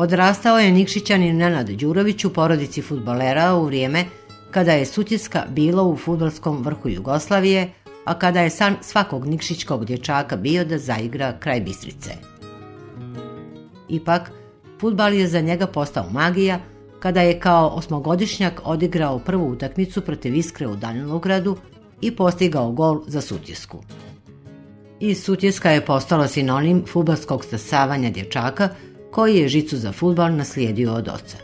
Odrastao je Nikšićanin Nenad Đurović u porodici fudbalera u vrijeme kada je Sutjeska bilo u fudbalskom vrhu Jugoslavije, a kada je san svakog nikšićkog dječaka bio da zaigra kraj Bistrice. Ipak, fudbal je za njega postao magija kada je kao osmogodišnjak odigrao prvu utakmicu protiv Iskre u Danilovgradu i postigao gol za Sutjesku. I Sutjeska je postala sinonim fudbalskog stasavanja dječaka koji je žicu za fudbal naslijedio od oca.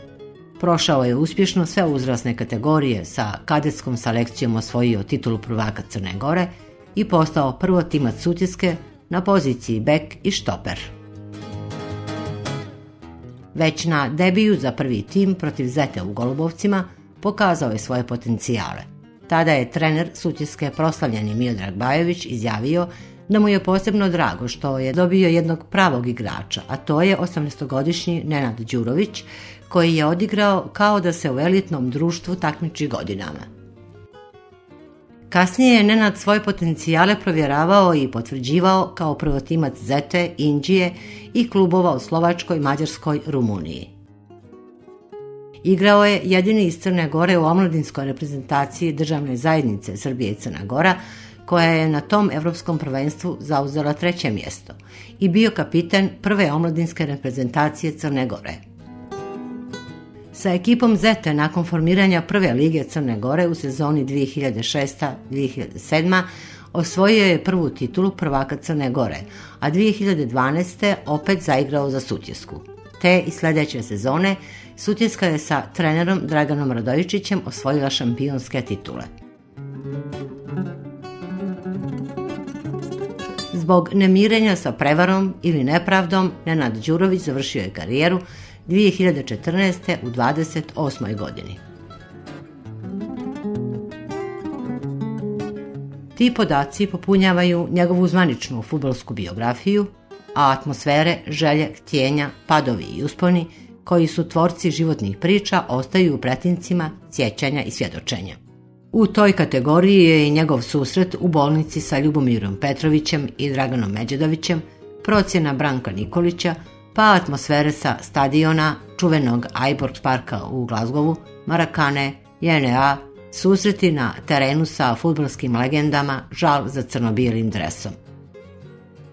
Prošao je uspješno sve uzrasne kategorije, sa kadetskom selekcijom osvojio titulu prvaka Crne Gore i postao prvotimac Sutjeske na poziciji bek i štoper. Već na debiju za prvi tim protiv Zete u Golubovcima pokazao je svoje potencijale. Tada je trener Sutjeske, proslavljeni Miodrag Bajović, izjavio da mu je posebno drago što je dobio jednog pravog igrača, a to je 18-godišnji Nenad Đurović, koji je odigrao kao da se u elitnom društvu takmiči godinama. Kasnije je Nenad svoje potencijale provjeravao i potvrđivao kao prvotimac Zete, Inđije i klubova u Slovačkoj, Mađarskoj, Rumuniji. Igrao je jedini iz Crne Gore u omladinskoj reprezentaciji državne zajednice Srbije i Crna Gora, koja je na tom evropskom prvenstvu zauzela 3. mjesto i bio kapiten prve omladinske reprezentacije Crne Gore. Sa ekipom Zete nakon formiranja prve lige Crne Gore u sezoni 2006-2007 osvojio je prvu titulu prvaka Crne Gore, a 2012. opet zaigrao za Sutjesku. Te i sljedeće sezone Sutjeska je sa trenerom Draganom Radojičićem osvojila šampionske titule. Zbog nemirenja sa prevarom ili nepravdom, Nenad Đurović završio je karijeru 2014. u 28. godini. Ti podaci popunjavaju njegovu zvaničnu fudbalsku biografiju, a atmosfere, želje, htjenja, padovi i usponi, koji su tvorci životnih priča, ostaju u pretincima sjećanja i svjedočenja. U toj kategoriji je i njegov susret u bolnici sa Ljubomirom Petrovićem i Draganom Međedovićem, procjena Branka Nikolića, pa atmosfere sa stadiona, čuvenog Ibrox parka u Glazgovu, Marakane, JNA, susreti na terenu sa fudbalskim legendama, žal za crno-bijelim dresom.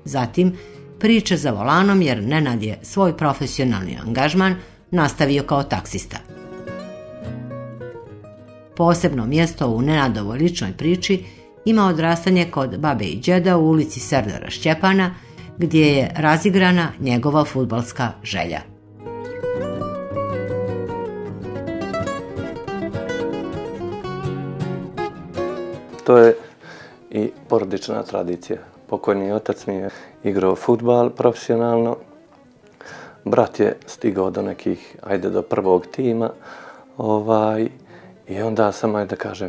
Zatim, priče za volanom jer Nenad je svoj profesionalni angažman nastavio kao taksista. Posebno mjesto u Nenadovoj ličnoj priči ima odrastanje kod babe i đeda u ulici Serdara Šćepana, gdje je razigrana njegova fudbalska želja. To je i porodična tradicija. Pokojni otac mi je igrao fudbal profesionalno. Brat je stigao do nekih, do prvog tima. I onda sam,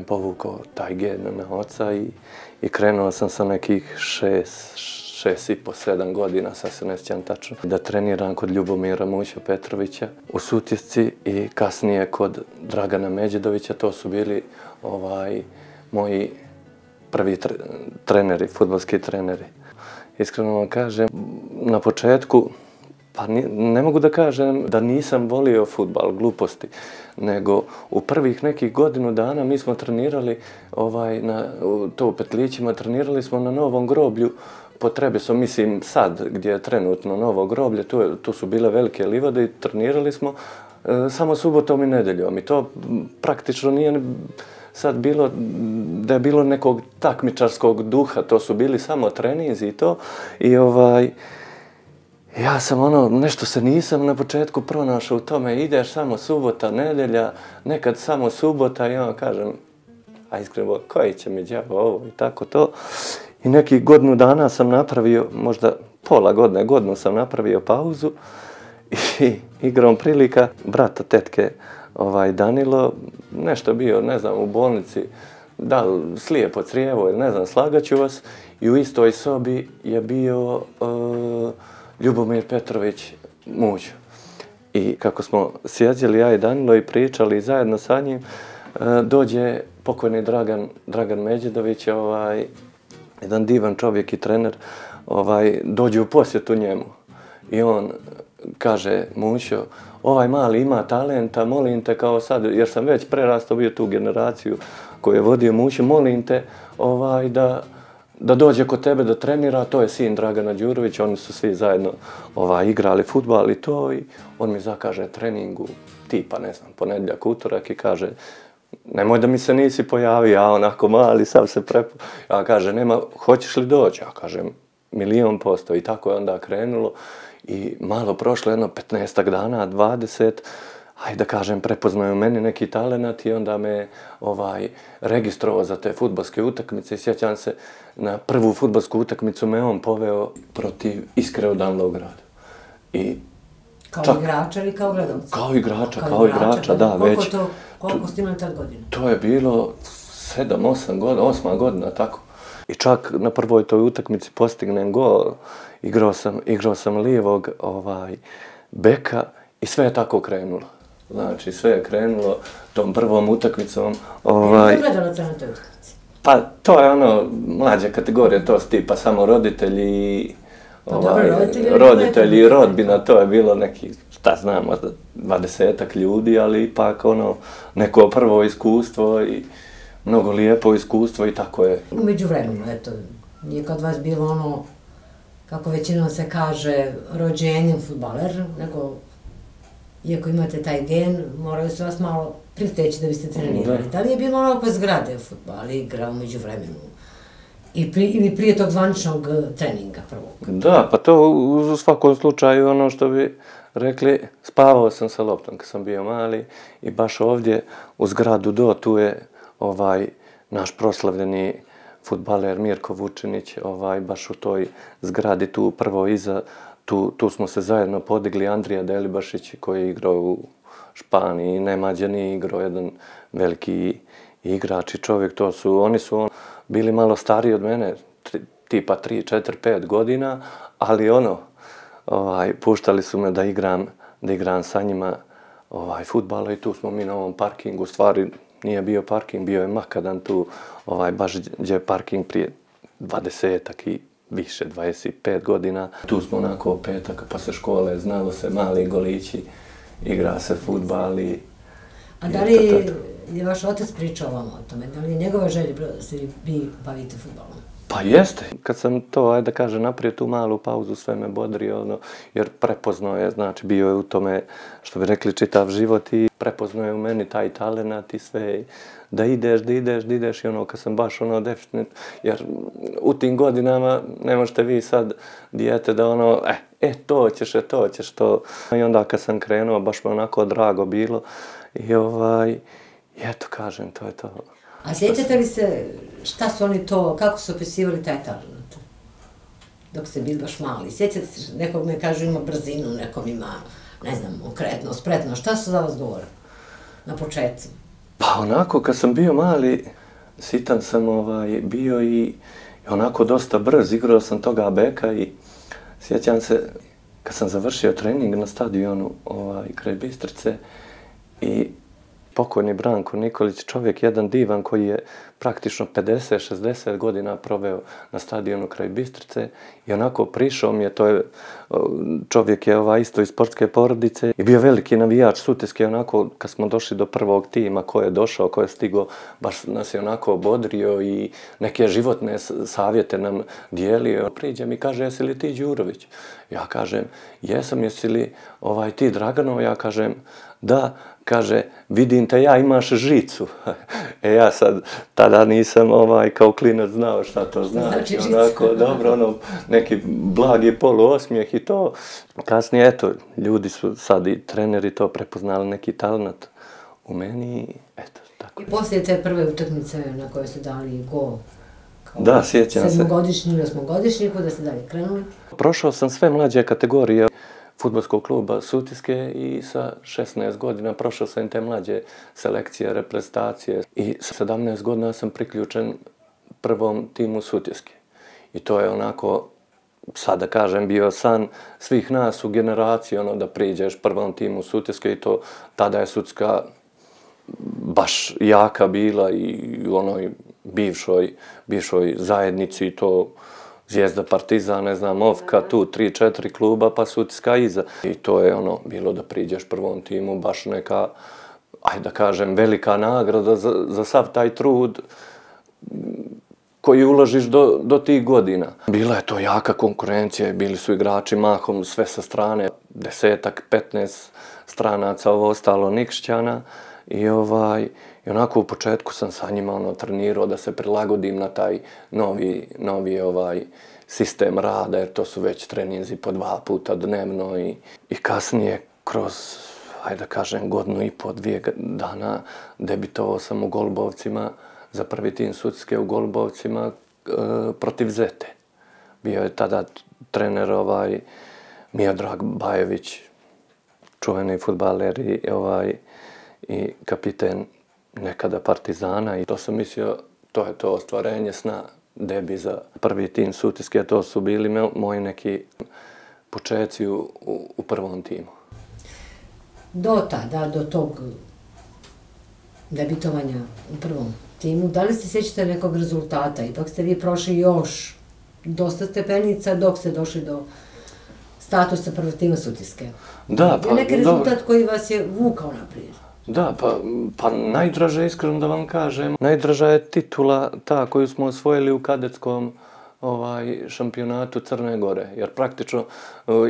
povukao taj gen na oca i krenuo sam sa nekih 6,5-7 godina, sad se ne sjećam tačno, da treniram kod Ljubomira Muća Petrovića u Sutjesci i kasnije kod Dragana Međedovića. To su bili moji prvi treneri, fudbalski treneri. Iskreno vam kažem, na početku, pa ne mogu da kažem da nisam volio fudbal, gluposti, nego u prvih nekih godinu dana mi smo trenirali, to u Petlićima, trenirali smo na Novom groblju po Trebesom, mislim sad gdje je trenutno Novo groblje, tu su bile velike livade i trenirali smo samo subotom i nedeljom i to praktično nije sad bilo da je bilo nekog takmičarskog duha, to su bili samo treninzi i to i ja sam nešto se nisam na početku pronašao u tome, ideš samo subota, nedelja, nekad samo subota i kažem, a iskreno, koji će mi đavo ovo i tako to. I nekih godinu dana sam napravio, možda pola godine, godinu sam napravio pauzu i igrom prilika brata tetke Danilo, nešto bio, ne znam, u bolnici, da li slijepo crijevo ili ne znam, slagaću vas, i u istoj sobi je bio Ljubomir Petrović Muć. I kako smo sjedili ja i Danilo i pričali zajedno sa njim, dođe pokojni Dragan Međedović, jedan divan čovjek i trener, dođe u posjetu njemu. I on kaže Mućo, ovaj mali ima talenta, molim te kao sad, jer sam već prerastao bio tu generaciju koju je vodio Mućo, molim te da dođe kod tebe da trenira, to je sin Dragana Đurovića, oni su svi zajedno igrali fudbal i to, i on mi zakaže treningu, tipa, ne znam, ponedjeljak, utorak, i kaže, nemoj da mi se nisi pojavio, ja onako mali, sam se ja kaže, nema, hoćeš li doći? Ja kažem, 1.000.000%, i tako je onda krenulo. I malo prošlo, jedno 15 dana, 20, hajde da kažem, prepoznaju meni neki talenat i onda me registrovao za te fudbalske utakmice i sjećam se, na prvu fudbalsku utakmicu me on poveo protiv Iskre od Danlograda. Kao igrača ili kao gledalca? Kao igrača, da, već. Koliko ste imali tad godina? To je bilo 7-8 godina, 8. godina, tako. I čak na prvoj toj utakmici postignem gol, igrao sam lijevog beka i sve je tako krenulo. Znači, sve je krenulo tom prvom utakmicom. Je gledalaca na toj utakmici? Pa, to je mlađa kategorija, to su tipa samo roditelji, roditelji i rodbina, to je bilo neki, šta znam, 20-ak ljudi, ali ipak neko prvo iskustvo i mnogo lijepo iskustvo i tako je. U međuvremenu, eto, nije kod vas bilo kako većinom se kaže, rođenjem fudbaler, nego, iako imate taj gen, morali su vas malo priteći da biste trenirali. Da li je bilo oko zgrade fudbal, igra u međuvremenu? Ili prije tog zvaničnog treninga prvog? Da, pa to u svakom slučaju ono što bi rekli, spavao sam sa loptom kad sam bio mali i baš ovdje u zgradu tu je naš proslavljeni fudbaler Mirko Vučinić, baš u toj zgradi tu prvo iza, tu smo se zajedno podigli, Andrija Delibašić koji je igrao u Španiji, Nemađani, igrao jedan veliki igrač i čovjek, oni su bili malo stariji od mene, tipa 3, 4, 5 godina, ali puštali su me da igram sa njima fudbala i tu smo mi na ovom parkingu, stvari nije bio parking, bio je makadam tu, baš gdje je parking prije 20-ak i više, 25 godina. Tu smo onako petak, posle škole, znalo se, mali golići, igra se fudbal i... A da li je vaš otac pričao vam o tome? Da li je njegova želja da se vi bavite fudbalom? Pa jeste. Kad sam to, ajde da kažem, napravio tu malu pauzu, sve me bodrio, jer prepoznao je, znači bio je u tome, što bi rekli, čitav život i prepoznao je u meni taj talenat i sve, da ideš i kad sam baš definitivno, jer u tim godinama ne možete vi sad dijete da to ćeš to. I onda kad sam krenuo, baš me onako drago bilo i eto kažem, to je to. A sjećate li se šta su oni to, kako su opisivali taj talent? Dok ste bili baš mali. Sjećate se, nekog me kažu ima brzinu, nekom ima, ne znam, okretno, spretno. Šta su za vas govorili na početku? Pa onako, kad sam bio mali, sitan sam bio i onako dosta brz. Igrao sam toga beka i sjećam se, kad sam završio trening na stadionu kraj Bistrice i pokojni Branko Nikolić, čovjek jedan divan koji je praktično 50-60 godina proveo na stadionu kraj Bistrice i onako prišao mi je, čovjek je isto iz sportske porodice i bio veliki navijač Sutjeske, onako kad smo došli do prvog tima, ko je došao, ko je stigao, baš nas je onako obodrio i neke životne savjete nam dijelio. Priđe mi i kaže, jesi li ti Đurović? Ja kažem, jesam, jesi li ti Draganov? Ja kažem, da. Kaže, vidim te ja, imaš žicu. Ja sad, tada nisam kao klinac znao šta to znači. Onako, dobro, neki blagi poluosmijeh i to. Kasnije, eto, ljudi su sad i treneri to prepoznali neki talent u meni i eto, tako. I poslije te prve utakmice na koje ste dali gol? Da, sjećam se. 7-godišnji ili 8-godišnji, kuda ste dalje krenuli? Prošao sam sve mlađe kategorije fudbalskog kluba Sutjeske i sa 16 godina prošao sam te mlađe selekcije, reprezentacije i sa 17 godina sam priključen prvom timu Sutjeske. I to je onako, sad da kažem, bio san svih nas u generaciji, da priđeš prvom timu Sutjeske i to tada je Sutjeska baš jaka bila i u onoj bivšoj zajednici i to Zvijezda, Partizan, ne znam, Ofka, tu 3-4 kluba, pa Sutjeska iza. I to je ono, bilo da priđeš prvom timu, baš neka, ajde da kažem, velika nagrada za sav taj trud koji uložiš do tih godina. Bila je to jaka konkurencija i bili su igrači mahom sve sa strane, 10-ak, 15 stranaca, ovo ostalo Nikšićana. I onako u početku sam sa njima trenirao da se prilagodim na taj novi sistem rada, jer to su već treninzi po 2 puta dnevno i kasnije kroz, hajde da kažem, godinu i po, 2 dana debitovao sam u Golubovcima za prvi tim Sutjeske u Golubovcima protiv Zete. Bio je tada trener Miodrag Bajević, čuveni fudbaler i kapiten nekada Partizana. I to sam mislio, to je to ostvarenje sna, debi za prvi tim Sutjeske. To su bili moji neki počeci u prvom timu. Do tada, do tog debitovanja u prvom timu, da li se sjećate nekog rezultata? Ipak ste vi prošli još dosta stepenica dok ste došli do statusa prvog tima Sutjeske. Da, pa... Je neki rezultat koji vas je vukao naprijed? Da, pa najdraža, iskreno da vam kažem, najdraža je titula ta koju smo osvojili u kadetskom šampionatu Crne Gore. Jer praktično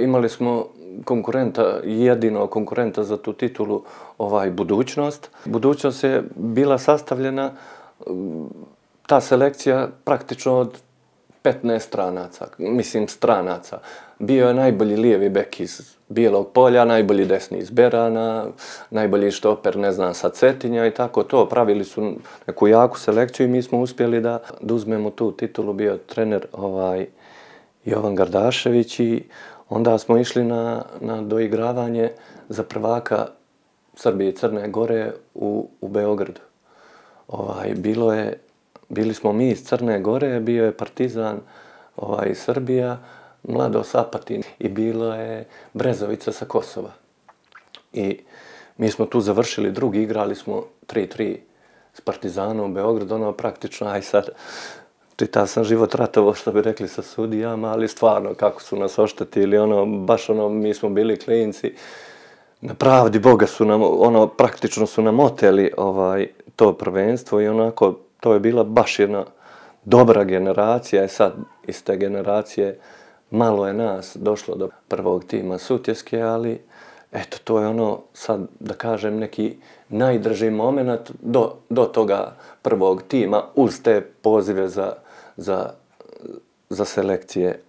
imali smo jedinog konkurenta za tu titulu, Budućnost. Budućnost je bila sastavljena, ta selekcija praktično od 15 stranaca. Bio je najbolji lijevi bek iz Bijelog Polja, najbolji desni iz Berana, najbolji štoper, ne znam, sa Cetinja i tako to. Pravili su neku jaku selekciju i mi smo uspjeli da uzmemo tu titulu. Bio je trener Jovan Gardašević i onda smo išli na doigravanje za prvaka Srbije i Crne Gore u Beogradu. Bili smo mi iz Crne Gore, bio je Partizan Srbija, Mladost Apatin i bilo je Brezovica sa Kosova. I mi smo tu završili drugi, igrali smo 3-3 s Partizanom u Beogradu, praktično, aj sad, čitao sam život ratovo, što bi rekli sa sudijama, ali stvarno kako su nas oštetili, baš mi smo bili klinci. Na pravdi Boga su nam, praktično su nam oteli to prvenstvo i onako, to je bila baš jedna dobra generacija. I sad iz te generacije malo je nas došlo do prvog tima Sutjeske, ali eto, to je sad da kažem neki najdraži moment do toga prvog tima uz te pozive za selekcije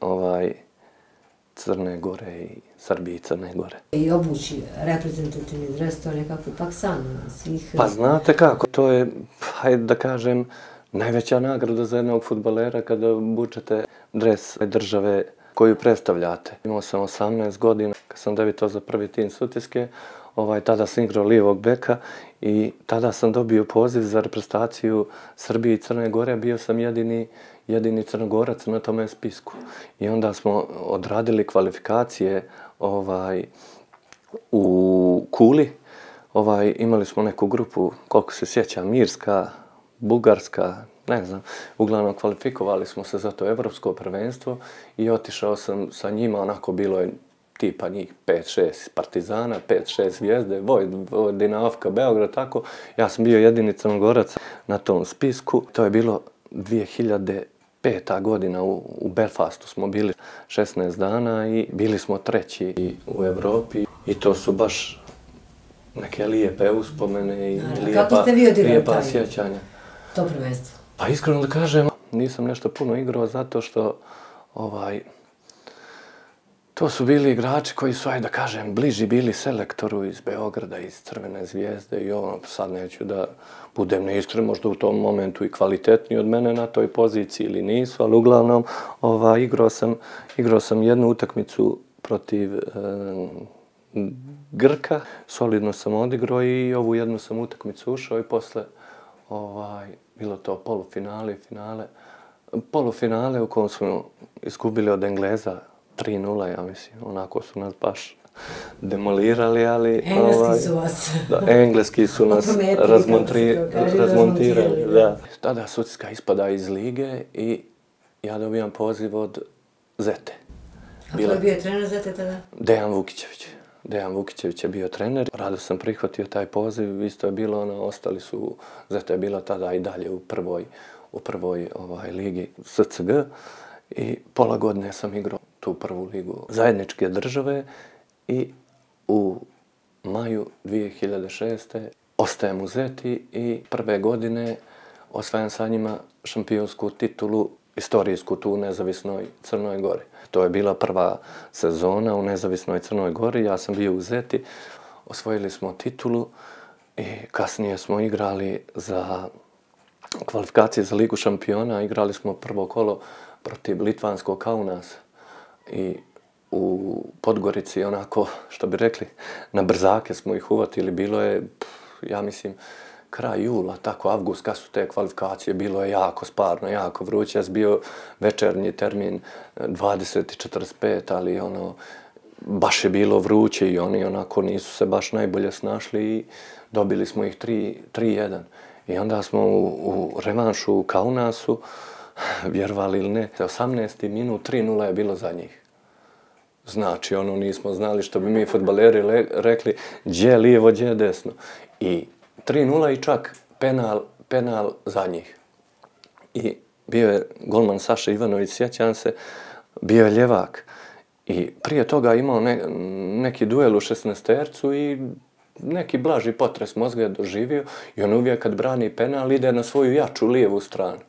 Crne Gore i Srbije i Crne Gore. I obući reprezentativni dres, to je nekako ipak san svih... Pa znate kako, to je, hajde da kažem, najveća nagrada za jednog fudbalera kada obučete dres države koju predstavljate. Imao sam 18 godina kad sam debitao za prvi tim Sutjeske, tada sam igrao lijevog beka i tada sam dobio poziv za reprezentaciju Srbije i Crne Gore, bio sam jedini Crnogorac na tome spisku. I onda smo odradili kvalifikacije u Kuli. Imali smo neku grupu, koliko se sjećam, Irska, Bugarska, ne znam. Uglavnom kvalifikovali smo se za to evropsko prvenstvo i otišao sam sa njima, onako bilo je tipa njih 5-6 Partizana, 5-6 Zvijezde, Vojvodina, Ofka, Beograd, tako. Ja sam bio jedini Crnogorac na tom spisku. To je bilo 2005. godina u Belfastu smo bili 16 dana i bili smo treći u Evropi i to su baš neke lijepe uspomene i lijepa sjećanja. To prvenstvo? Pa iskreno da kažem, nisam nešto puno igrao zato što to su bili igrači koji su, ajde da kažem, bliži bili selektoru iz Beograda, iz Crvene Zvijezde i sad neću da budem neiskren, možda u tom momentu i kvalitetniji od mene na toj poziciji ili nisu, ali uglavnom igrao sam jednu utakmicu protiv Grka, solidno sam odigrao i ovu jednu sam utakmicu ušao i posle bilo to polufinale i finale. Polufinale u kojem smo izgubili od Engleza 3-0, ja mislim. Onako su nas baš demolirali, ali... Engleski su vas. Da, engleski su nas razmontirali, da. Tada Sutjeska ispada iz lige i ja dobijam poziv od Zete. A ko je bio trener Zete tada? Dejan Vukićević. Dejan Vukićević je bio trener. Rado sam prihvatio taj poziv, isto je bilo ostali su, Zeta je bila tada i dalje u prvoj ligi SCG i pola godine sam igrao tu prvu ligu zajedničke države i u maju 2006. ostajem u Zeti i prve godine osvajam sa njima šampionsku titulu, istorijsku tu u nezavisnoj Crnoj Gori. To je bila prva sezona u nezavisnoj Crnoj Gori, ja sam bio u Zeti, osvojili smo titulu i kasnije smo igrali za kvalifikacije za Ligu šampiona, igrali smo prvo kolo protiv litvanskog Kaunasa i u Podgorici, onako, što bi rekli, na brzake smo ih uvatili, bilo je, ja mislim, kraj jula, tako avgust, kad su te kvalifikacije, bilo je jako sparno, jako vruće. Ja sam bio večernji termin 20:45, ali baš je bilo vruće i oni onako nisu se baš najbolje snašli i dobili smo ih 3:1. I onda smo u revanšu u Kaunasu, vjerovali ili ne, 18. minut 3:0 je bilo za njih. Znači, nismo znali što bi mi fudbaleri rekli, gdje lijevo, gdje desno. I 3:0 i čak penal za njih. I bio je golman Saša Ivanović, sjećam se, bio je ljevak. I prije toga imao neki duel u 16-tercu i neki blaži potres mozga je doživio i on uvijek kad brani penal ide na svoju jaču lijevu stranu.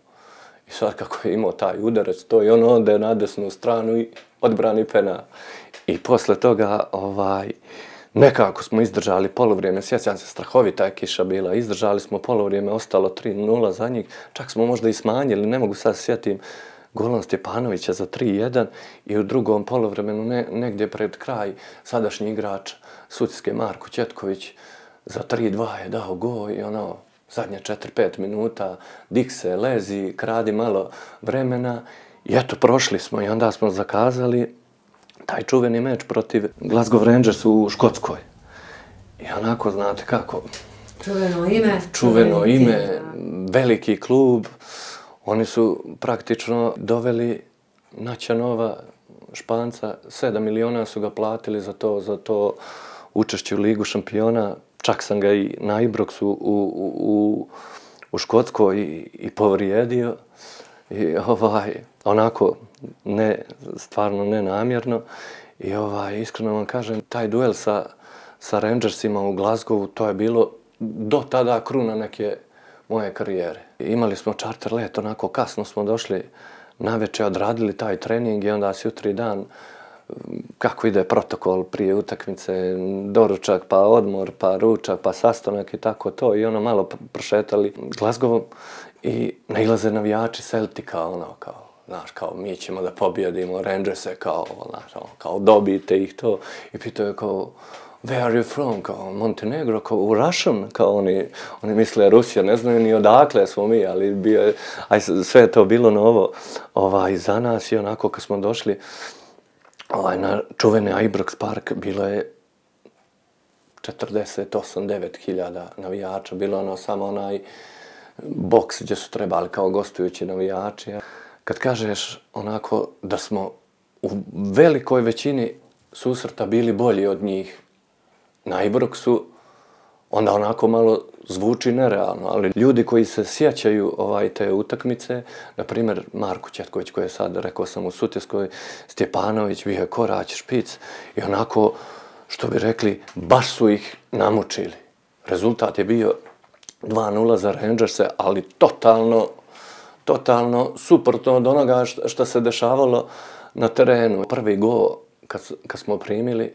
I sad kako je imao taj udarac, to i on ode na desnu stranu i odbrani penal. I posle toga, nekako smo izdržali polovrijeme, sjećam se, strahovita je kiša bila, izdržali smo polovrijeme, ostalo 3:0 za njih, čak smo možda i smanjili, ne mogu sad sjetim, golom Stjepanovića za 3:1 i u drugom polovremenu, negdje pred kraj, sadašnji igrač Sutjeske Marko Ćetković za 3:2 je dao gol i zadnje 4-5 minuta, dik se, lezi, kradi malo vremena i eto, prošli smo i onda smo zakazali taj čuveni meč protiv Glasgow Rangers u Škotskoj. I onako, znate kako... Čuveno ime, veliki klub. Oni su praktično doveli Naćanova, Španca, 7 miliona su ga platili za to učešće u Ligu šampiona. Čak sam ga i na Ibroxu u Škotskoj i povrijedio. I onako, stvarno nenamjerno. I iskreno vam kažem, taj duel sa Rangersima u Glasgowu, to je bilo do tada kruna neke moje karijere. Imali smo čarter let, onako kasno smo došli navečer, odradili taj trening i onda jutri dan, kako ide protokol prije utakmice, doručak, pa odmor, pa ručak, pa sastanak i tako to. I malo prošetali Glasgow i nailaze navijači Celtica, kao mi ćemo da pobjedimo Rangerse, kao dobijte ih to. I pitao je kao, where are you from? Kao Montenegro, kao Russian, kao oni misle Rusija, ne znaju ni odakle smo mi, ali sve je to bilo novo za nas i onako kad smo došli na čuveni Ibrox Park, bilo je 48-9 hiljada navijača, bilo samo onaj boks gdje su trebali kao gostujući navijači. Kad kažeš onako da smo u velikoj većini susreta bili bolji od njih na Ibroxu, onda onako malo zvuči nerealno, ali ljudi koji se sjećaju te utakmice, na primjer Marko Ćetković koji je sad, rekao sam, u Sutjeskoj, Stjepanović, bio je Korać, Špic i onako, što bi rekli, baš su ih namučili. Rezultat je bio 2:0 za Rangerse, ali totalno suprotno od onoga što se dešavalo na terenu. Prvi gol kad smo primili,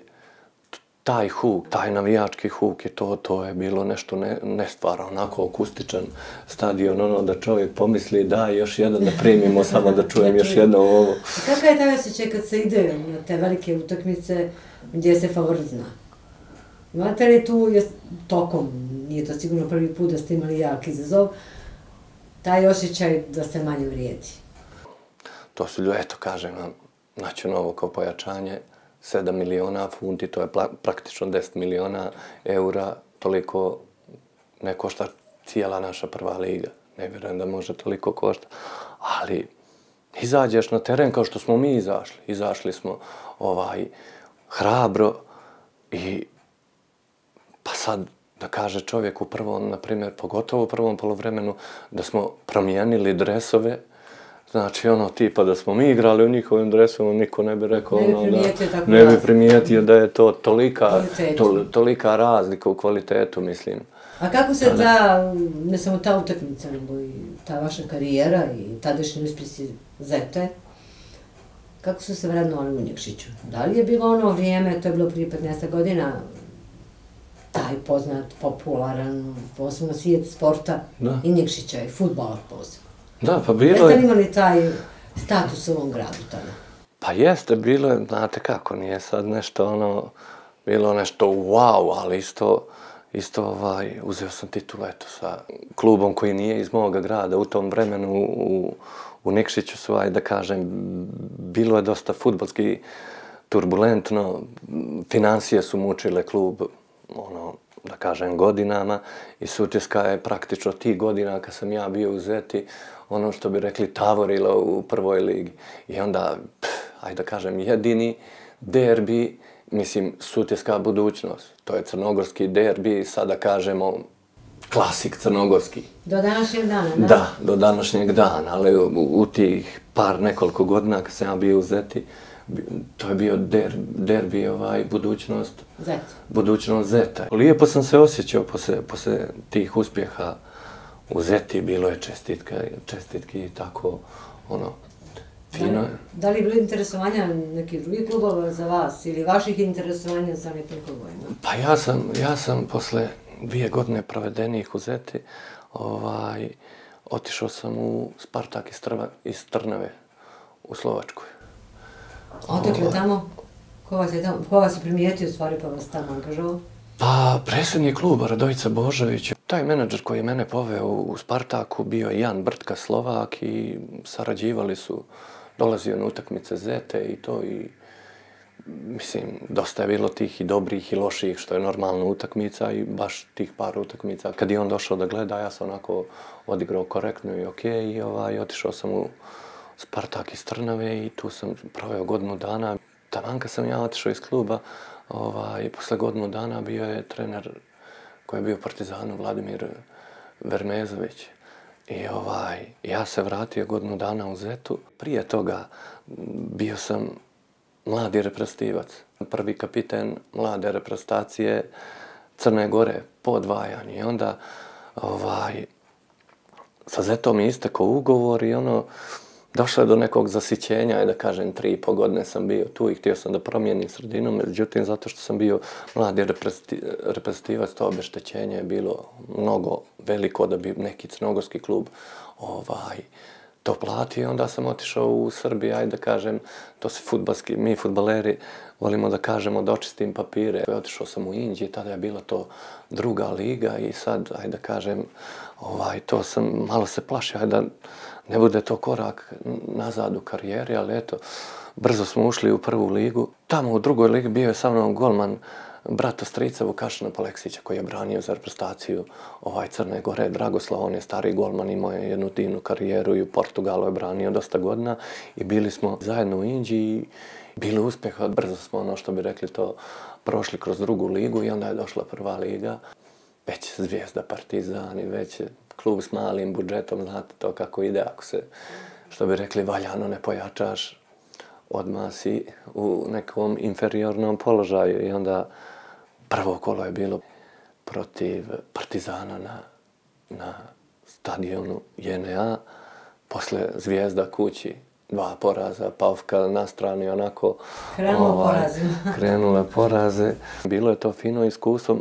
taj huk, taj navijački huk, to je bilo nešto nestvarno, onako akustičan stadion, da čovjek pomisli da još jedan da primimo, samo da čujem još jedno ovo. Kakav je taj osjećaj kad se ide na te velike utakmice gdje se favorit zna? Imate li tu tokom, nije to sigurno prvi put da ste imali jak izazov, taj osjećaj da se manje vrijedi? To su ljudi, eto kažem vam, naći novo kao pojačanje, 7 miliona funti, to je praktično 10 miliona eura, toliko ne košta cijela naša prva liga. Ne vjerujem da može toliko košta, ali Izađeš na teren kao što smo mi izašli. Izašli smo hrabro i pa sad da kaže čovjek u prvom, na primjer, pogotovo u prvom poluvremenu, da smo promijenili dresove. Znači, tipa da smo mi igrali u njihovim dresovima, niko ne bi rekao, ne bi primijetio da je to tolika razlika u kvalitetu, mislim. A kako se ne samo ta utakmica, nego i ta vaša karijera i tadašnji uspjesi Zete, kako su se vrednovali u Nikšiću? Da li je bilo ono vrijeme, to je bilo prije 15 godina, taj poznat, popularan, posebno svijet sporta i Nikšića i fudbalar posebno? Da, pa bilo je... Jeste li imali taj status u ovom gradu tada? Pa jeste, bilo je, znate kako, nije sad nešto bilo nešto wow, ali isto uzeo sam titul, eto, sa klubom koji nije iz moga grada. U tom vremenu u Nikšiću su, da kažem, bilo je dosta fudbalski turbulentno, financije su mučile klub, da kažem, godinama i Sutjeska je praktično tih godina kad sam ja bio u Zeti, što bi rekli, tavorila u prvoj ligi. I onda, da kažem, jedini derbi, mislim, Sutjeska budućnost. To je crnogorski derbi, sada kažemo klasik crnogorski. Do današnjeg dana, da? Da, do današnjeg dana, ali u tih nekoliko godina kad sam ja bio u Zeti, to je bio derbi budućnost. Zeta. Budućnost Zeta. Lijepo sam se osjećao posle tih uspjeha u Zeti, bilo je čestitki i tako, fino. Da li je bilo interesovanja nekih drugih klubova za vas ili vaših interesovanja za nekim klubovima? Pa ja sam posle 2 godine provedenih u Zeti, otišao sam u Spartak iz Trnave u Slovačkoj. Odakle tamo? Ko vas je primijetio stvari pa vas tamo angažovao? Pa, predsjednik kluba Radojica Božović. Taj menadžer koji je mene poveo u Spartaku bio je Jan Brtka, Slovak, i sarađivali su, dolazio na utakmice Zete i to, i mislim, dosta je bilo tih i dobrih i loših, što je normalna utakmica, i baš tih par utakmica. Kad je on došao da gleda, ja sam onako odigrao korektno i okej, i otišao sam u Spartak iz Trnave i tu sam proveo godinu dana. Taman kad sam ja otišao iz kluba, posle godinu dana bio je trener koji je bio u Partizanu, Vladimir Vermezović. I ja se vratio godinu dana u Zetu. Prije toga bio sam mladi reprezentativac, prvi kapiten mlade reprezentacije Crne Gore po odvajanju. I onda sa Zetom je istekao ugovor i došlo je do nekog zasićenja, da kažem, 3,5 godine sam bio tu i htio sam da promijenim sredinu, međutim, zato što sam bio mladi reprezentativac, to obeštećenje je bilo mnogo veliko da bi neki crnogorski klub to platio. Onda sam otišao u Srbiju, da kažem, to se mi fudbaleri volimo da kažemo da očistim papire. Otišao sam u Inđiju, tada je bila to druga liga i sad, da kažem, to sam malo se plašio, da ne bude to korak nazad u karijeri, ali eto, brzo smo ušli u prvu ligu. Tamo u drugoj ligi bio je sa mnom golman brata strica Vukašina Paleksića, koji je branio za reprezentaciju Crne Gore. Dragoslav, on je stari golman, imao je jednu divnu karijeru i u Portugalu je branio dosta godina i bili smo zajedno u Inđiji i bili uspjeha. Brzo smo, što bi rekli, to prošli kroz drugu ligu i onda je došla prva liga. Već Zvijezda, Partizan i već klub s malim budžetom, znate to kako ide, ako se, što bi rekli, valjano ne pojačaš, odmah si u nekom inferiornom položaju. I onda prvo kolo je bilo protiv Partizana na stadionu JNA, posle Zvijezda kući, 2 poraza, Pavka na strani, onako krenula poraze. Bilo je to fino iskustvo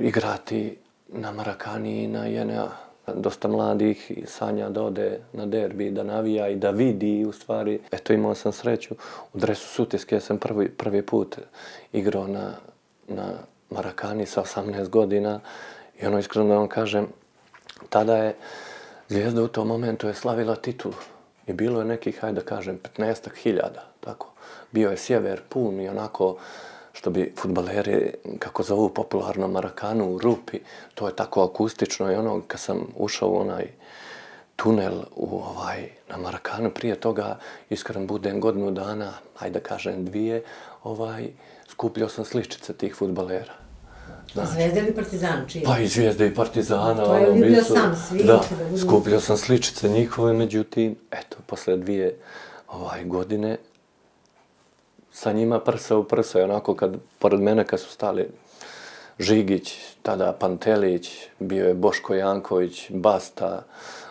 igrati na Marakani i na JNA. Dosta mladih sanja da ode na derbi, da navija i da vidi, u stvari. Eto, imao sam sreću. U dresu Sutjeske sam prvi put igrao na Marakani sa 18 godina i iskreno da vam kažem, tada je Zvijezda u tom momentu je slavila titulu i bilo je nekih, da kažem, 15.000, tako. Bio je sjever pun i onako, što bi fudbaleri, kako zovu popularno, Marakanu u rupi, to je tako akustično i kad sam ušao u tunel na Marakanu. Prije toga, iskren budem, godinu dana, ajde da kažem 2, skupljao sam sličice tih fudbalera. Zvezda ili Partizan, čije? Pa i Zvijezde i Partizana. To je vidio sam svi. Da, skupljao sam sličice njihove, međutim, eto, posle 2 godine, sa njima prsa u prsa, i onako pored mene kad su stali Žigić, tada Pantelić, bio je Boško Janković, Basta,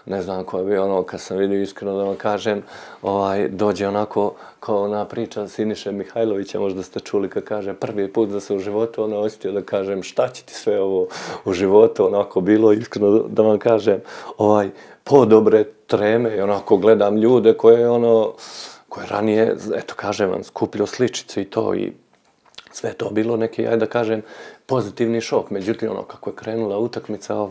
ne znam ko je bio, kad sam vidio, iskreno da vam kažem, dođe onako kao ona priča Siniše Mihajlovića, možda ste čuli kad kaže prvi put da se u životu osjetio da kažem šta će ti sve ovo u životu, onako bilo, iskreno da vam kažem, podobre treme i onako gledam ljude koje ranije, eto kažem vam, skupljao sličice i to i sve to bilo neki, ajde da kažem, pozitivni šok. Međutim, kako je krenula utakmica,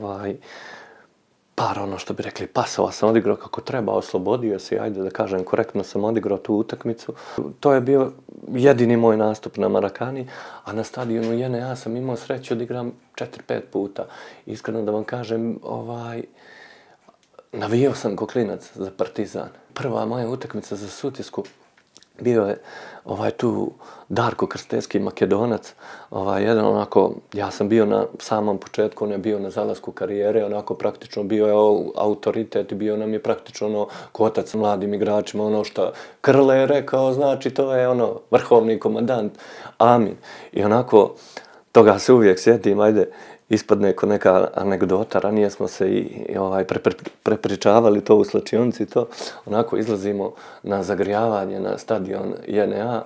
što bi rekli, pasova sam odigrao kako treba, oslobodio se, ajde da kažem, korektno sam odigrao tu utakmicu. To je bio jedini moj nastup na Marakani, a na stadionu JNA sam imao sreću da igram 4-5 puta. Iskreno da vam kažem, navijao sam ko klinac za Partizan. Prva moja utakmica za Sutjesku bio je tu Darko Krstevski, Makedonac, jedan onako, ja sam bio na samom početku, on je bio na zalasku karijere, onako praktično bio je autoritet i bio nam je praktično kotac mladim igračima, ono što Krle je rekao, znači to je vrhovni komandant, amin. I onako, toga se uvijek sjetim, ajde, ispadne ko neka anegdota, ranije smo se i prepričavali to u slačionici, to onako izlazimo na zagrijavanje na stadion JNA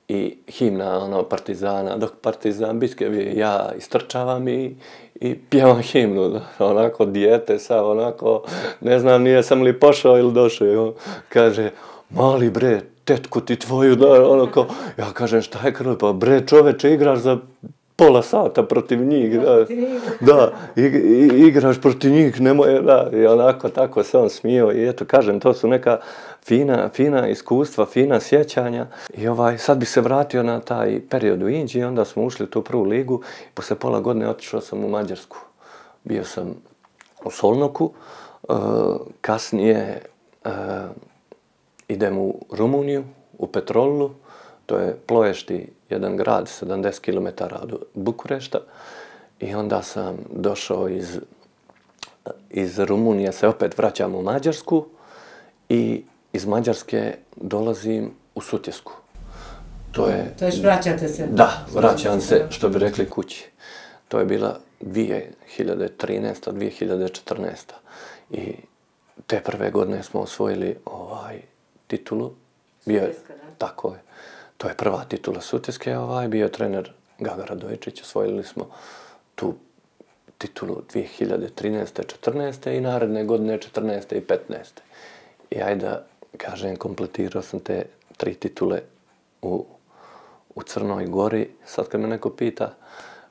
i himna Partizana, dok Partizan Biskevi, ja istrčavam i pjevam himnu, onako dijete sam, onako, ne znam, nije sam li pošao ili došao, kaže, mali bre, tetku ti tvoju, ja kažem, šta je Krle, pa bre čoveče, igraš za pola sata protiv njih, da, igraš protiv njih, nemoj, da, i onako tako se on smio i eto, kažem, to su neka fina iskustva, fina sjećanja i sad bi se vratio na taj period u Inđiji, onda smo ušli u tu prvu ligu i posle pola godine otišao sam u Mađarsku. Bio sam u Solnoku, kasnije idem u Rumuniju, u Petrolu, to je Ploješti, jedan grad, 70 km od Bukurešta. I onda sam došao iz Rumunije, se opet vraćam u Mađarsku i iz Mađarske dolazim u Sutjesku. To je vraćate se? Da, vraćam se, što bi rekli, kući. To je bila 2013. 2014. I te prve godine smo osvojili titulu. Sutjeska, da? Tako je. To je prva titula Sutjeske, bio je trener Gaga Radojičić, osvojili smo tu titulu 2013. 14. i naredne godine 14. i 15. I ajde da kažem, kompletirao sam te 3 titule u Crnoj Gori. Sad kad me neko pita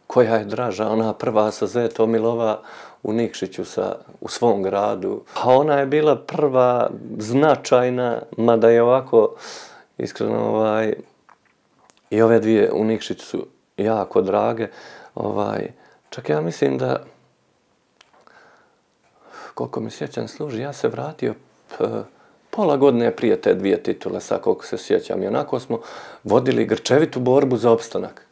koja je draža, ona prva sa Zetom ili ova u Nikšiću u svom gradu. A ona je bila prva značajna, mada je ovako, iskreno, i ove dvije u Nikšiću su jako drage. Čak ja mislim da, koliko mi sjećam služi, ja se vratio pola godine prije te 2 titule, sad koliko se sjećam. I onako smo vodili grčevitu borbu za opstanak.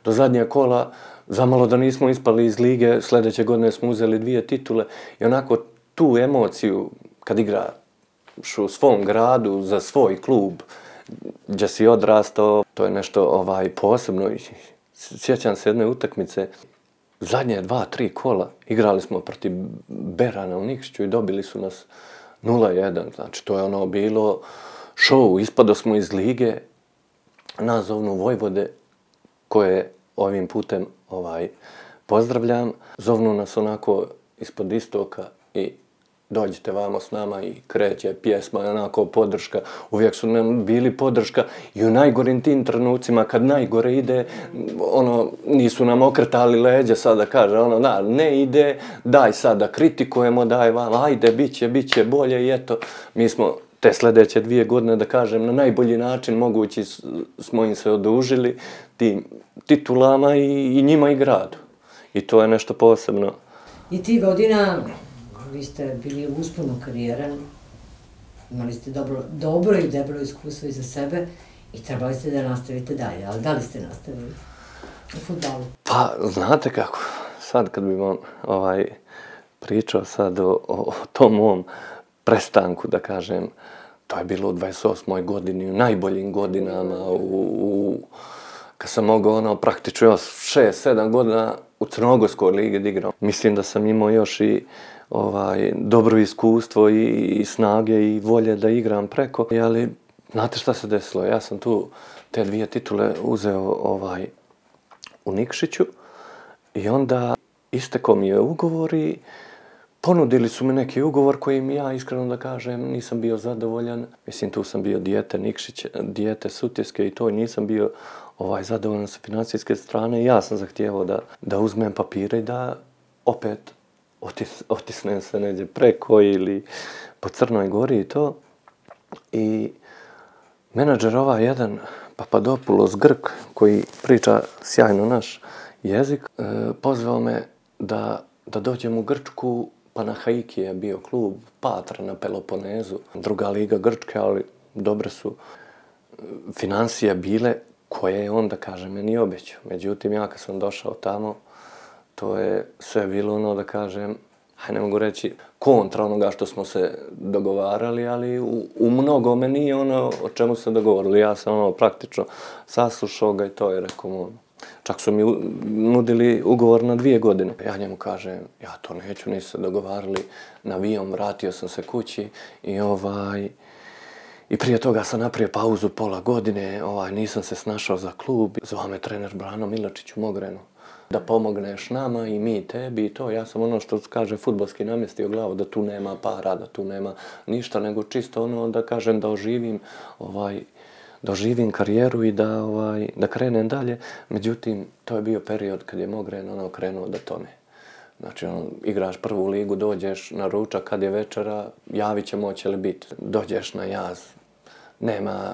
Do zadnje kola, zamalo da nismo ispali iz lige, sljedeće godine smo uzeli 2 titule i onako tu emociju kad igraš u svom gradu za svoj klub, gdje si odrastao, to je nešto posebno. Sjećam se jedne utakmice, zadnje 2-3 kola igrali smo protiv Berana u Nikšiću i dobili su nas 0-1. Znači, to je bilo show. Ispado smo iz lige, nas zovnu Vojvode, koje ovim putem pozdravljam. Zovnu nas onako ispod istoka i dođite vamo s nama i kreće pjesma, onako podrška. Uvijek su nam bili podrška i u najgorim tim trenucima, kad najgore ide, nisu nam okretali leđa sad da kaže, ne ide, daj sad da kritikujemo, daj vam, ajde, bit će bolje i eto, mi smo te sljedeće 2 godine, da kažem, na najbolji način mogući smo im se odužili tim titulama i njima i gradu. I to je nešto posebno. I ti godina vi ste bili u usponu karijere, imali ste dobro i debelo iskustvo iza sebe i trebali ste da nastavite dalje, ali da li ste nastavili u fudbalu? Pa, znate kako, sad kad bi vam pričao sad o tom mom prestanku, da kažem, to je bilo u 28. godini, u najboljim godinama, kad sam mogao praktično 6-7 godina u Crnogorskoj ligi da igram. Mislim da sam imao još i dobro iskustvo i snage i volje da igram preko, ali znate šta se desilo? Ja sam tu te 2 titule uzeo u Nikšiću i onda istekao mi je ugovor i ponudili su mi neki ugovor kojim ja, iskreno da kažem, nisam bio zadovoljan. Mislim, tu sam bio dijete Nikšića, dijete Sutjeske i to, i nisam bio zadovoljan sa financijske strane. Ja sam zahtijevao da uzmem papire i da opet otisnem se neđe preko ili po Crnoj Gori i to. I menadžer jedan, Papadopoulos Grk, koji priča sjajno naš jezik, pozvao me da dođem u Grčku. Panahaiki je bio klub, Patra na Peloponezu, druga liga Grčke, ali dobre su financije bile koje je on, da kažem, meni obećao. Međutim, ja kad sam došao tamo, to je sve bilo da kažem, ne mogu reći kontra onoga što smo se dogovarali, ali u mnogome nije ono o čemu se dogovorili. Ja sam praktično saslušao ga i to je rekao. Čak su mi nudili ugovor na 2 godine. Ja njemu kažem, ja to neću, nisu se dogovarali. Na avion vratio sam se kući i prije toga sam napravio pauzu pola godine, nisam se snašao za klub. Zvao me trener Brano Milačić u Mogrenu da pomogneš nama i mi tebi i to. Ja sam ono što kaže fudbalski namjestio glavu, da tu nema para, da tu nema ništa, nego čisto da kažem da oživim karijeru i da krenem dalje. Međutim, to je bio period kad je Mogren krenuo da tone. Znači, igraš prvu ligu, dođeš na ručak, kad je večera, javit ćemo hoće li biti. Dođeš na jaz, nema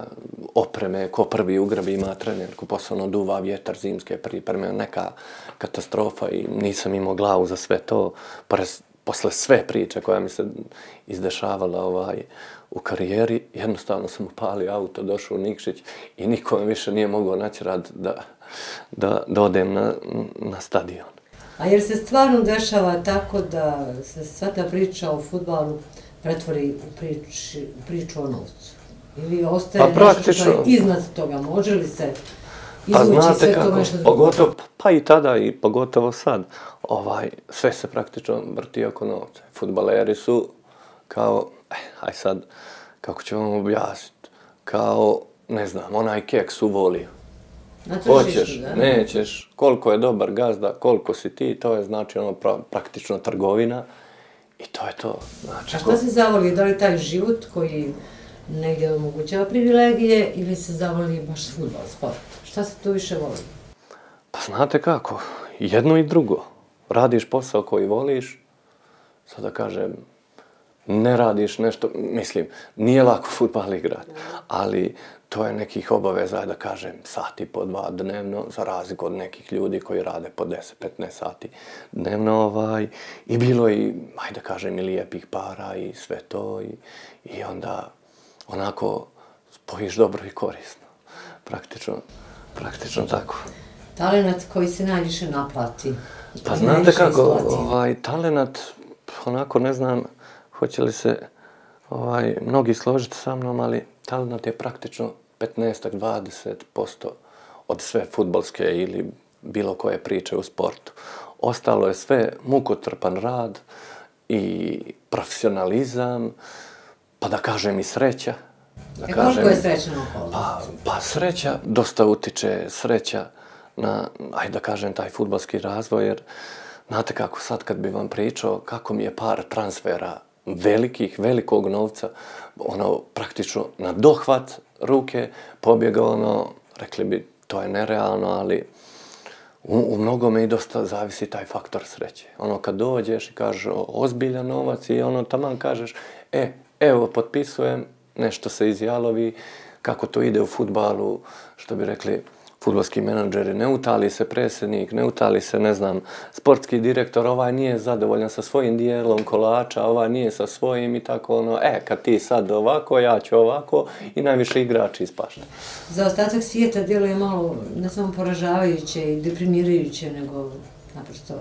opreme, ko prvi ugrabi ima trenerku, posebno duva vjetar, zimske pripreme, neka katastrofa i nisam imao glavu za sve to. Posle sve priče koja mi se izdešavala u karijeri, jednostavno sam upalio auto, došao u Nikšić i niko me više nije mogao natjerati da odem na stadion. A jer se stvarno dešava tako da se sva ta priča o fudbalu pretvori u priču o novcu? Ili ostaje nešto što je iznad toga? Može li se izvući sve to nešto drugo? Pa i tada i pogotovo sad. Sve se praktično vrti oko novca. Fudbaleri su kao, aj sad, kako ću vam objasniti, kao, ne znam, onaj keks u voliju. Hoćeš, nećeš, koliko je dobar gazda, koliko si ti, to je znači praktično trgovina i to je to. A šta se zavoli? Da li taj život koji negdje omogućava privilegije ili se zavoli baš fudbal, sport? Šta se tu više voli? Pa znate kako, jedno i drugo. Radiš posao koji voliš, sad da kažem, ne radiš nešto, mislim, nije lako fudbal igrati, ali to je nekih obaveza, da kažem, sat i po 2 dnevno, za razliku od nekih ljudi koji rade po 10-15 sati dnevno, i bilo i, ajde da kažem, i lijepih para i sve to, i onda onako spojiš dobro i korisno, praktično tako. Talenat koji se najviše naplati? Pa znate kako, talenat, onako ne znam, hoće li se mnogi složiti sa mnom, ali talenat je praktično 15-20% od sve fudbalske ili bilo koje priče u sportu. Ostalo je sve mukotrpan rad i profesionalizam, pa da kažem i sreća. Koliko je srećna okolnost? Pa sreća, dosta utiče sreća na, ajde da kažem, taj fudbalski razvoj, jer znate kako, sad kad bi vam pričao kako mi je par transfera velikog novca, praktično na dohvat ruke pobjegao, rekli bi, to je nerealno, ali u mnogome i dosta zavisi taj faktor sreće. Kad dođeš i kažeš ozbiljan novac i taman kažeš, evo, potpisujem, nešto se izjalovi, kako to ide u fudbalu, što bi rekli, fudbalski menadžeri, ne utali se predsjednik, ne utali se, ne znam, sportski direktor, ovaj nije zadovoljan sa svojim dijelom kolača, ovaj nije sa svojim i tako ono, kad ti sad ovako, ja ću ovako i najviše igrači ispašta. Za ostatak svijeta djeluje malo ne samo poražavajuće i deprimirajuće, nego naprosto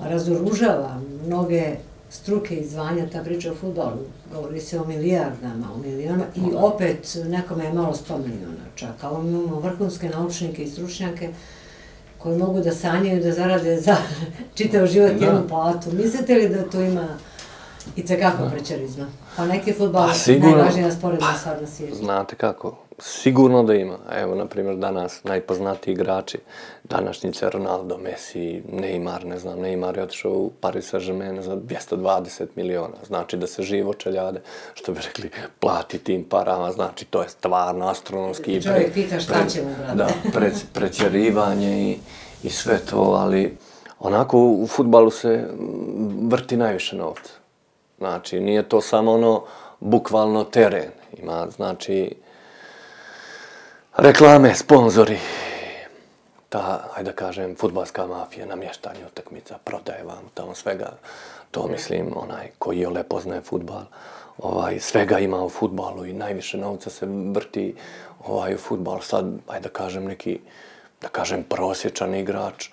razoružava mnoge struke i zvanja ta priča o fudbalu. Govori se o milijardama, o milionama i opet nekome je malo 100 miliona čak. A imamo vrhunske naučnike i stručnjake koji mogu da sanjaju da zarade za čitav život jednu platu. Mislite li da to ima i tekako prećarizma? Pa neki fudbal najvažnija sporedna stvar na svijetu. Znate kako, sigurno da ima. Evo, na primjer, danas najpoznatiji igrači današnjice Ronaldo, Messi, Neymar, ne znam, Neymar je otišao u Paris Saint-Germain za 220 miliona. Znači da se živo čeljade, što bi rekli, plati tim parama, znači to je stvarno astronomski. Čovjek pita šta će mu, brate. Da, prećerivanje i sve to, ali onako u fudbalu se vrti najviše novca. Znači, nije to samo ono, bukvalno teren. Ima, znači, reklame, sponzori, ta, ajde da kažem, fudbalska mafija, namještanje utakmica, prodaje vam tamo svega. To mislim, onaj koji je poznaje fudbal, svega ima u fudbalu i najviše novca se vrti u fudbal. Sad, ajde da kažem, neki, da kažem, prosječan igrač,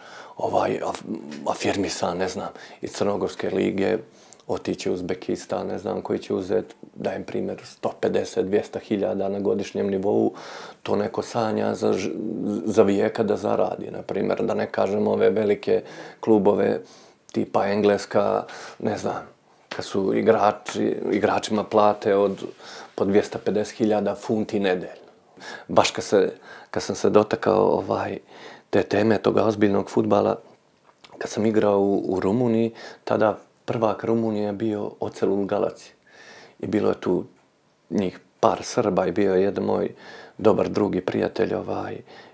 afirmisan, ne znam, iz Crnogorske lige, otići u Uzbekistan, ne znam, koji će uzeti, dajem primjer, 150-200 hiljada na godišnjem nivou, to neko sanja za vijeka da zaradi. Na primjer, da ne kažem ove velike klubove tipa Engleska, ne znam, kad su igračima plate od po 250 hiljada funti nedeljno. Baš kad sam se dotakao te teme toga ozbiljnog fudbala, kad sam igrao u Rumuniji, tada prvak Rumunije je bio Ocelul Galaci. I bilo je tu njih par Srba i bio je jedan moj dobar drugi prijatelj,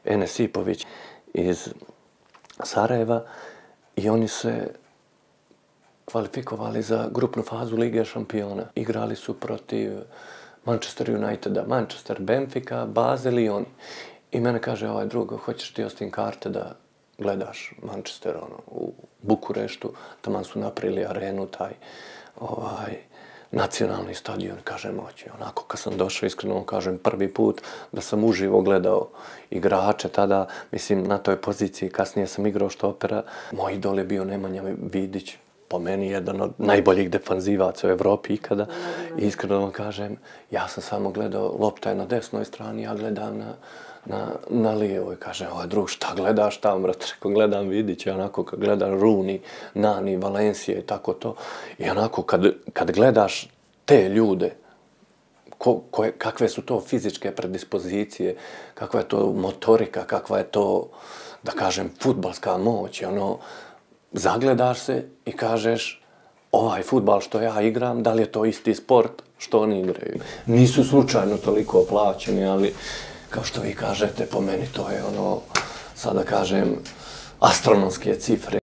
Enes Ipović iz Sarajeva i oni se kvalifikovali za grupnu fazu Lige šampiona. Igrali su protiv Manchester Uniteda, Manchester, Benfica, Basel i oni. I mene kaže ovaj drugo, hoćeš ti ostim karte da gledaš Manchester u Bukureštu, tamo su napravili arenu, taj nacionalni stadion, kažem, moći. Onako, kad sam došao, iskreno kažem, prvi put da sam uživo gledao igrače tada, mislim, na toj poziciji, kasnije sam igrao štopera. Moj idol je bio Nemanja Vidić, po meni jedan od najboljih defanzivaca u Evropi ikada. I iskreno vam kažem, ja sam samo gledao, lopta je na desnoj strani, ja gledam na lijevoj. Kaže, ovaj drug, šta gledaš tamo, brate? Rekao, gledam Vidića, onako kad gledam Rooney, Nani, Valencije i tako to. I onako kad gledaš te ljude, kakve su to fizičke predispozicije, kakva je to motorika, kakva je to, da kažem, fudbalska moć, zagledaš se i kažeš, ovaj fudbal što ja igram, da li je to isti sport što oni igraju. Nisu slučajno toliko plaćeni, ali kao što vi kažete, po meni to je sad da kažem, astronomske cifre.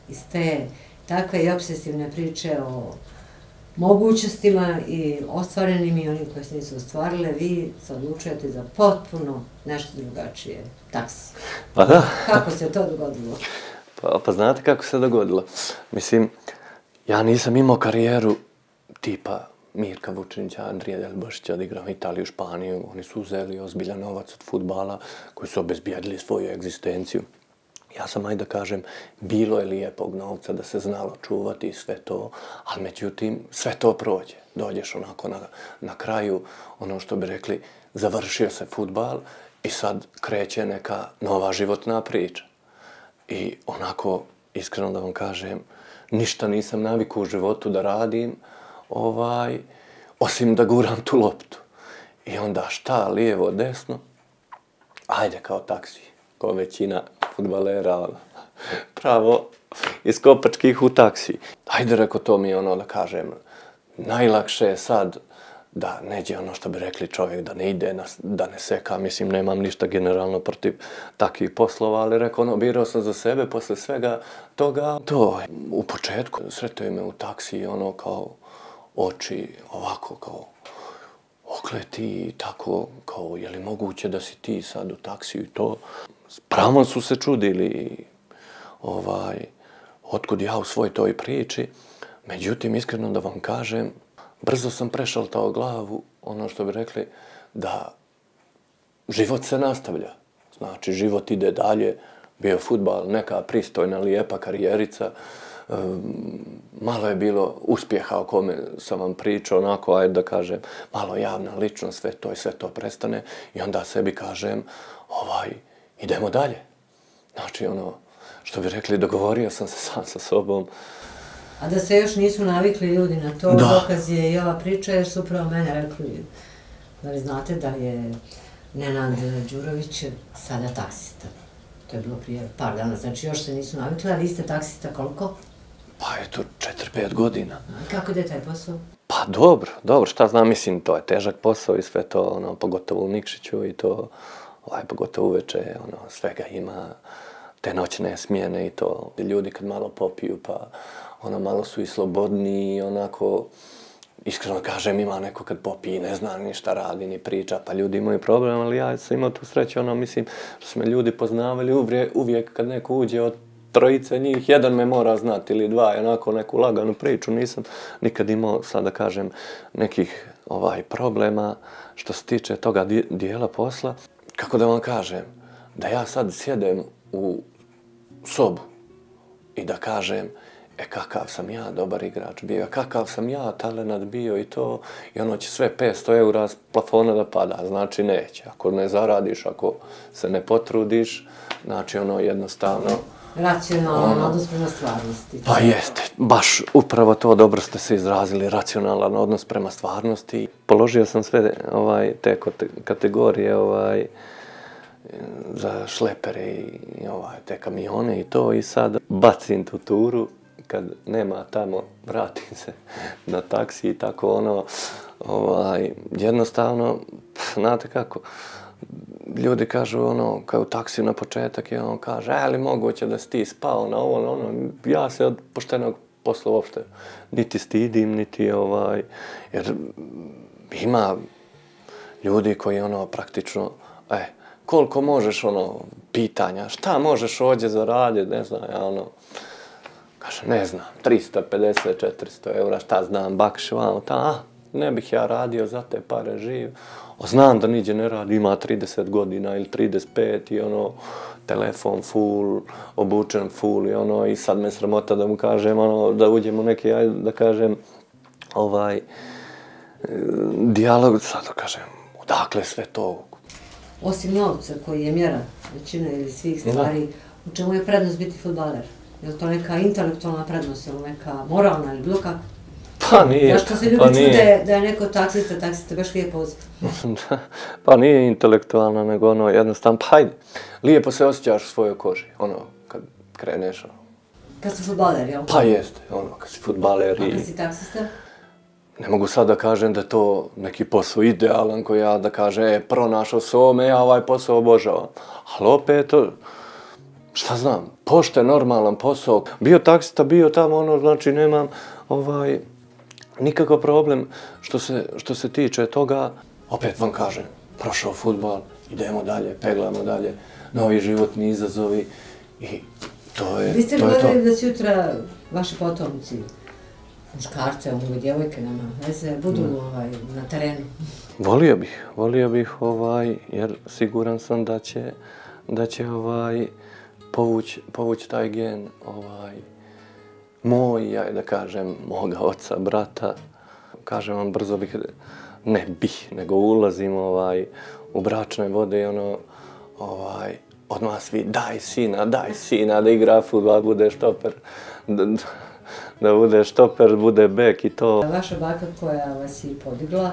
iz te takve i obsesivne priče o mogućnostima i ostvarenim i onim koje se nisu ostvarile, vi se odlučujete za potpuno nešto drugačije. Taksi. Pa da. Kako se to dogodilo? Pa znate kako se dogodilo? Mislim, ja nisam imao karijeru tipa Mirka Vučinića, Andrija Delbošića, da igram Italiju, Španiju. Oni su uzeli ozbiljan novac od fudbala koji su obezbijedili svoju egzistenciju. Ja sam, ajde da kažem, bilo je lijepog novca da se znalo čuvati i sve to, ali međutim, sve to prođe. Dođeš onako na kraju, ono što bi rekli, završio se fudbal i sad kreće neka nova životna priča. I onako, iskreno da vam kažem, ništa nisam navikao u životu da radim, osim da guram tu loptu. I onda šta, lijevo, desno, ajde kao taksi, kao većina fudbalera, pravo iz Kopačkih u taksi. Ajde, reko, to mi je ono da kažem, najlakše je sad da neđe ono što bi rekli čovjek, da ne ide, da ne seka, mislim, nemam ništa generalno protiv takvih poslova, ali reko, ono, birao sam za sebe posle svega toga. To, u početku, sretao me u taksi, ono, kao oči, ovako, kao okleti i tako, kao, je li moguće da si ti sad u taksiju i to. S pravom su se čudili, otkud ja u svoj toj priči. Međutim, iskreno da vam kažem, brzo sam prešaltao glavu, ono što bi rekli, da život se nastavlja. Znači, život ide dalje, bio fudbal, neka pristojna, lijepa karijerica, malo je bilo uspjeha o kome sam vam pričao, onako, ajde da kažem, malo javna ličnost, sve to prestane i onda sebi kažem, idemo dalje. Znači, ono, što bi rekli, dogovorio sam se sam sa sobom. A da se još nisu navikli ljudi na to, dokaz je i ova priča, jer su upravo mene rekli, da li znate da je Nenad Đurović sada taksista. To je bilo prije par dana, znači još se nisu navikli, a vi ste taksista koliko? Pa eto, 4-5 godina. Kako ide taj posao? Pa dobro, šta znam, mislim, to je težak posao i sve to, ono, pogotovo u Nikšiću i to, pogotovo uveče, ono, svega ima, te noćne smjene i to. Ljudi kad malo popiju, pa ono, malo su i slobodniji, onako, iskreno kažem, ima neko kad popije, ne zna ni šta radi, ni priča, pa ljudi imaju problem, ali ja sam imao tu sreću, ono, mislim, što su me ljudi poznavali, uvijek kad neko uđe od trojice njih, jedan me mora znati ili dva, onako neku laganu priču, nisam nikad imao, sad da kažem, nekih problema što se tiče toga dijela posla. Kako da vam kažem, da ja sad sjedem u sobu i da kažem, kakav sam ja dobar igrač bio, kakav sam ja talenat bio i to, i ono će sve 500 eura s plafona da pada, znači neće. Ako ne zaradiš, ako se ne potrudiš, znači ono jednostavno... Racionalan odnos prema stvarnosti. Pa jeste, baš upravo to, dobro ste se izrazili, racionalan odnos prema stvarnosti. Položio sam sve te kategorije za šlepere i te kamione i to i sad bacim tu turu. Kad nema tamo, vratim se na taksi i tako ono, jednostavno, znate kako, ljudi kažu ono, kao u taksiju na početak i on kaže, ali moguće da si ti spao na ovo, ono, ja se od poštenog posla uopšte niti stidim, niti jer ima ljudi koji ono, praktično, koliko možeš ono, pitanja, šta možeš ovdje zaraditi, ne znam, ja ono, kaže, ne znam, 350, 400 eura, šta znam, bakš, ne bih ja radio za te pare živ. Znam da niđe ne radi, ima 30 godina ili 35 i ono, telefon full, obučen full i ono, i sad me sramota da mu kažem, ono, da uđem u neki, da kažem, dijalog, sad da kažem, odakle sve to? Osim novca koji je mjera većine ili svih stvari, u čemu je prednost biti fudbaler? Je li to neka intelektualna prednost ili neka moralna ili bilo kako? Pa nije. Zašto se ljudi čude da je neko taksista, baš lijepo poziv? Pa nije intelektualna, nego ono jednostavno, pa hajde, lijepo se osjećaš u svojoj koži, ono, kad kreneš. Kad si fudbaler, jel? Pa jeste, ono, kad si fudbaler i... A kad si taksista? Ne mogu sad da kažem da je to neki posao idealan koji ja da kažem, pronašao se ovome, ja ovaj posao obožavam. Ali opet, šta znam, pošten, normalan posao. Bio taksista, bio tamo, ono, znači nemam nikakav problem što se tiče toga. Opet vam kažem, prošao fudbal, idemo dalje, peglamo dalje, novi životni izazovi i to je to. Vi ste gledali da sutra vaši potomci, muškarce, mogu djevojke, nema veze, budu na terenu? Volio bih, jer siguran sam da će povući taj gen, moj, ja da kažem, moga oca, brata. Kažem vam, brzo bih, nego ulazim u bračne vode i odmah svi, daj sina, da igra fudbal, bude štoper, da bude štoper, bude bek i to. Vaša baka koja vas je podigla,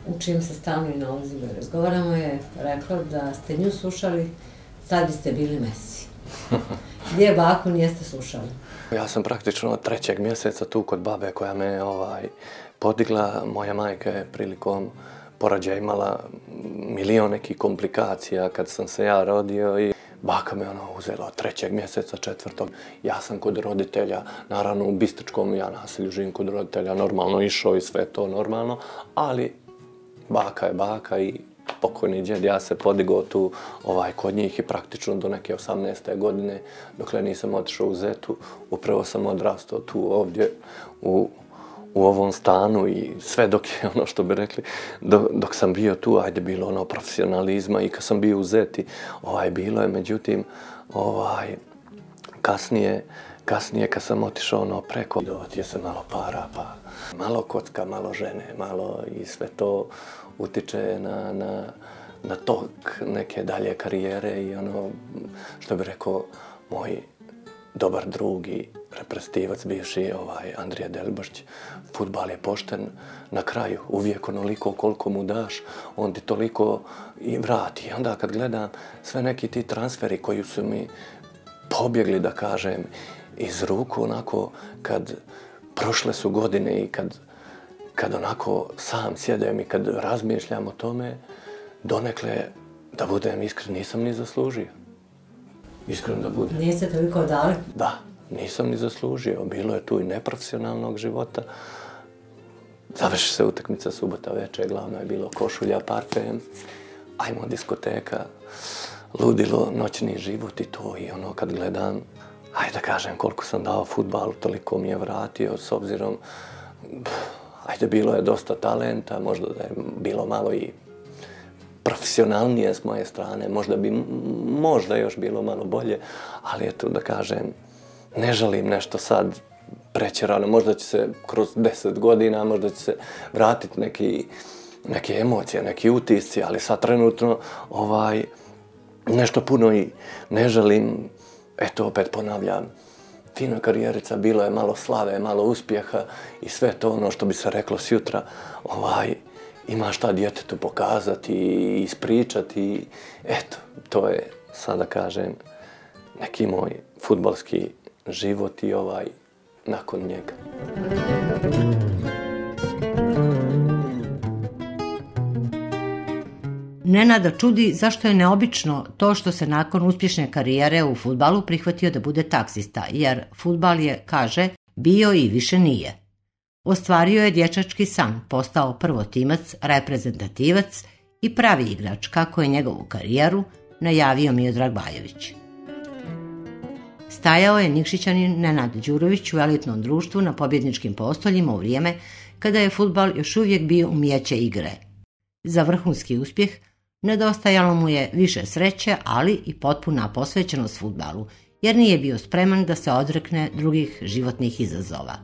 u čijem se stalno i nalazimo i razgovaramo, je rekla da ste nju slušali, sad biste bili Messi. Gdje baku nijeste slušali? Ja sam praktično od 3. mjeseca tu kod babe koja me podigla. Moja majka je prilikom porođaja imala milion nekih komplikacija kad sam se ja rodio i baka me uzela od 3. mjeseca, 4. Ja sam kod roditelja, naravno u Bistričkom ja naselju živim kod roditelja, normalno išao i sve to normalno, ali baka je baka i pokojni djed, ja se podigao tu kod njih i praktično do neke 18. godine, dokle nisam otišao u Zetu, upravo sam odrastao tu ovdje u ovom stanu i sve dok je što bi rekli, dok sam bio tu, ajde bilo profesionalizma i kad sam bio u Zeti, bilo je, međutim, kasnije kad sam otišao preko, dovati je se malo para, pa malo kocka, malo žene, malo i sve to utiče na tok neke dalje karijere i što bi rekao moj dobar drug i reprezentativac bivši Andrija Delbošć, fudbal je pošten na kraju, uvijek onoliko koliko mu daš, on ti toliko i vrati. I onda kad gledam sve neki ti transferi koji su mi pobjegli, da kažem, iz ruku, onako kad prošle su godine i kad onako sam sjedem i kad razmišljam o tome, donekle, da budem iskren, nisam ni zaslužio. Iskreno da budem. Niste toliko dali? Da, nisam ni zaslužio. Bilo je tu i neprofesionalnog života. Završi se utakmica subota večer, glavno je bilo košulja, parfem, ajmo diskoteka, ludilo, noćni život i to. I kad gledam, ajde da kažem koliko sam dao fudbalu, toliko mi je vratio, s obzirom, ajde bilo je dosta talenta, možda da je bilo malo i profesionalnije s moje strane, možda još bilo malo bolje, ali eto da kažem, ne želim nešto sad prećerano, možda će se kroz 10 godina, možda će se vratiti neke emocije, neki utisci, ali sad trenutno nešto puno i ne želim, eto opet ponavljam, fina karijerica, bilo je malo slave, malo uspjeha i sve to što bi se reklo sjutra, ima šta djetetu pokazati i ispričati. Eto, to je, sada kažem, neki moj fudbalski život i nakon njega. Nenada čudi zašto je neobično to što se nakon uspješne karijere u fudbalu prihvatio da bude taksista, jer fudbal je, kaže, bio i više nije. Ostvario je dječački san, postao prvotimac, reprezentativac i pravi igrač, kako je njegovu karijeru najavio Miodrag Bajović. Stajao je Nikšićanin Nenad Đurović u elitnom društvu na pobjedničkim postoljima u vrijeme kada je fudbal još uvijek bio umijeće igre. Za vrhunski uspjeh nedostajalo mu je više sreće, ali i potpuna posvećenost fudbalu, jer nije bio spreman da se odrekne drugih životnih izazova.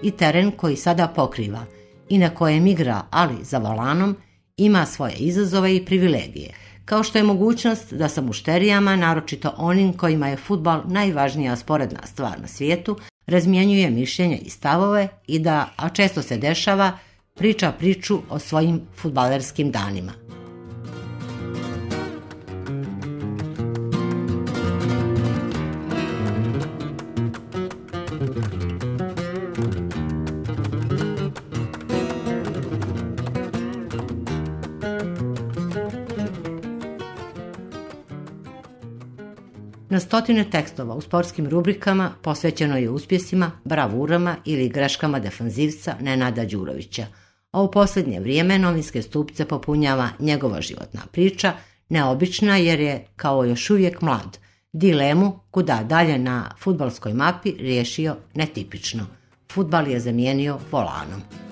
I teren koji sada pokriva i na kojem igra, ali za volanom, ima svoje izazove i privilegije, kao što je mogućnost da sa mušterijama, naročito onim kojima je fudbal najvažnija sporedna stvar na svijetu, razmjenjuje mišljenja i stavove i da, a često se dešava, priča priču o svojim fudbalerskim danima. Na stotine tekstova u sportskim rubrikama posvećeno je uspjesima, bravurama ili greškama defanzivca Nenada Đurovića, a u posljednje vrijeme novinske stupce popunjava njegova životna priča, neobična jer je, kao još uvijek mlad, dilemu kuda dalje na fudbalskoj mapi riješio netipično. Fudbal je zamijenio volanom.